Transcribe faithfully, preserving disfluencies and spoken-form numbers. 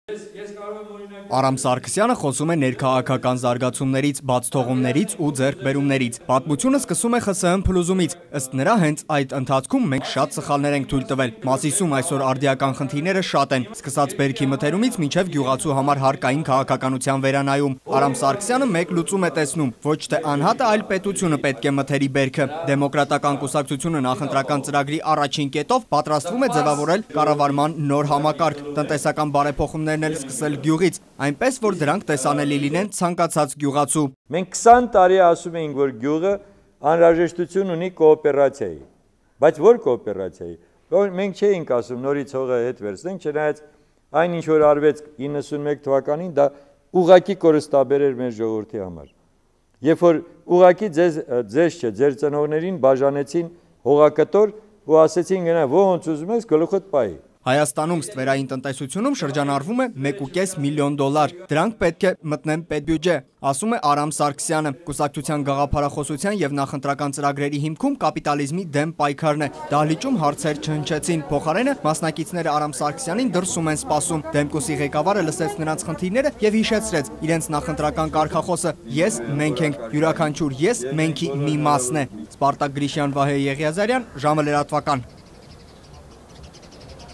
Արամ Սարգսյանը խոսում է ներքաղաքական զարգացումներից, բացթողումներից ու ձեռքբերումներից։ Պատմությունը սկսում է ԽՍՀՄ փլուզումից։ Ըստ նրա, հենց այդ ընթացքում մենք շատ սխալներ ենք թույլ տվել։ Մասիսում այսօր արդիական խնդիրները շատ են, սկսած բերքի մթերումից մինչև գյուղացու համար հարկային քաղաքականության վերանայում։ Արամ Սարգսյանը մեկ լուծում է տեսնում, ոչ թե անհատը, այլ պետությունը պետք է մթերի բերքը։ Դեմոկրատական կուսակցությունը նախընտրական ծրագրի առաջին կետով պատրաստվում է ձևավորել կառավարման նոր համակարգ, տնտեսական բարեփոխումներն էլ սկսել գյուղից, այնպես որ դրանք տեսանելի լինեն ցանկացած գյուղացու։ Մենք քսան տարի ասում էինք, որ գյուղը անհրաժեշտություն ունի կոոպերացիայի, բայց որ կոոպերացիայի։ Մենք չէինք ասում նորից հողը հետ վերցնենք, չնայած այն ինչ որ արվեց իննսունմեկ թվականին, դա ուղղակի կորստաբեր էր մեր ժողովրդի համար։ Երբ որ ուղղակի ձեզ ձեզ չէ, ձեր ծնողներին բաժանեցին հողակտոր ու ասեցին գնա ոնց ուզում ես գլուխդ պայի։ Հայաստանում ստվերային տնտեսությունում շրջանառվում է մեկ ու կես միլիոն դոլար։ Դրանք պետք է մտնեն պետբյուջե, ասում է Արամ Սարգսյանը։ Կուսակցության գաղափարախոսության եւ նախընտրական ծրագրերի հիմքում կապիտալիզմի դեմ պայքարն է։ Դահլիճում հարցեր չհնչեցին, փոխարենը մասնակիցները Արամ Սարգսյանին դրսում են սպասում։ Դեմկուսի ղեկավարը լսեց նրանց խնդիրները եւ հիշեցրեց իրենց նախընտրական կարգախոսը՝ ես մենք ենք, յուրաքանչյուր ես մենքի մի մասն է։ Սպարտակ Գրիշյան, Վահե Եղիազարյան, ժամը լրատվական։